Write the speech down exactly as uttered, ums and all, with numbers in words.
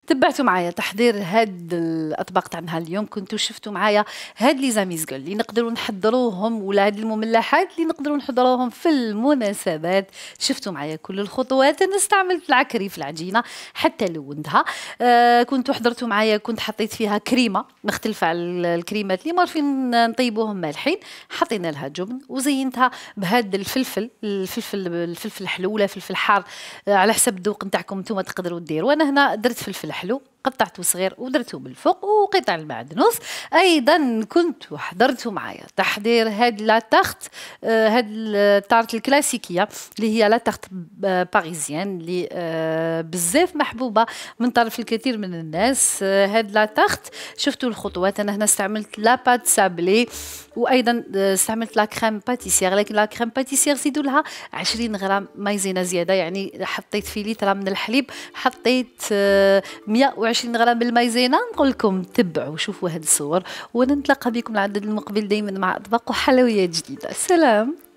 تبعتوا معايا تحضير هاد الاطباق تاع نهار اليوم. كنتوا شفتوا معايا هاد لي زاميزغول اللي نقدروا نحضروهم، ولا هاد المملحات اللي نقدروا نحضروهم في المناسبات. شفتوا معايا كل الخطوات. انا استعملت العكري في العجينه حتى لونتها. آه كنتوا حضرتوا معايا، كنت حطيت فيها كريمه مختلفه على الكريمات اللي معروفين نطيبوهم مالحين. حطينا لها جبن وزينتها بهذا الفلفل الفلفل الفلفل الحلو ولا فلفل حار، آه على حسب الذوق نتاعكم نتوما تقدروا ديروا. انا هنا درت فلفل حلو قطعته صغير ودرته بالفوق وقطع المعدنوس. ايضا كنت حضرتوا معايا تحضير هاد لا تارت، آه هاد التارت الكلاسيكيه اللي هي لا تارت باريزيان اللي آه بزاف محبوبه من طرف الكثير من الناس. آه هاد لا تارت شفتوا الخطوات. انا هنا استعملت لا بات سابلي، وايضا استعملت لا كريم باتيسير، لكن لا كريم باتيسير زيدوا لها عشرين غرام مايزينا زياده. يعني حطيت في لتر من الحليب حطيت آه مئة وعشرين غرام بالمايزينا. نقول لكم تبعوا شوفوا هاد الصور، ونتلاقى بكم العدد المقبل دائما مع اطباق وحلويات جديده. سلام.